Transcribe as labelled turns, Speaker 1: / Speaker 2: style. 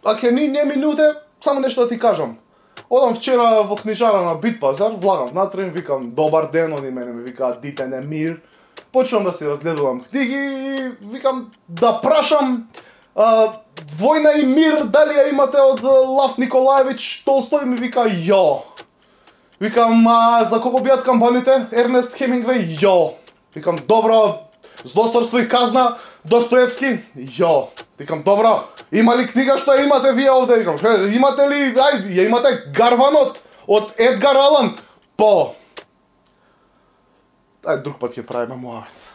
Speaker 1: Аке ни минуте, само нешто да ти кажам. Одам вчера во книжара на Бит пазар, влагам внатре, викам добар ден, они мене ми викаат дите не мир. Почнам да си разгледувам книги и викам да прашам Војна и мир, дали ја имате од Лав Николаевич Толстој, ми вика јо. Викам, за кого биат кампаните? Ернест Хемингвеј, јо. Викам, добро, Злосторство и казна, Достоевски, јо. Викам, добро, има ли книга што ја имате вие овде? Викам, имате ли, ја имате Гарванот од Едгар Алан? По. Друг пат ќе правиме муавет.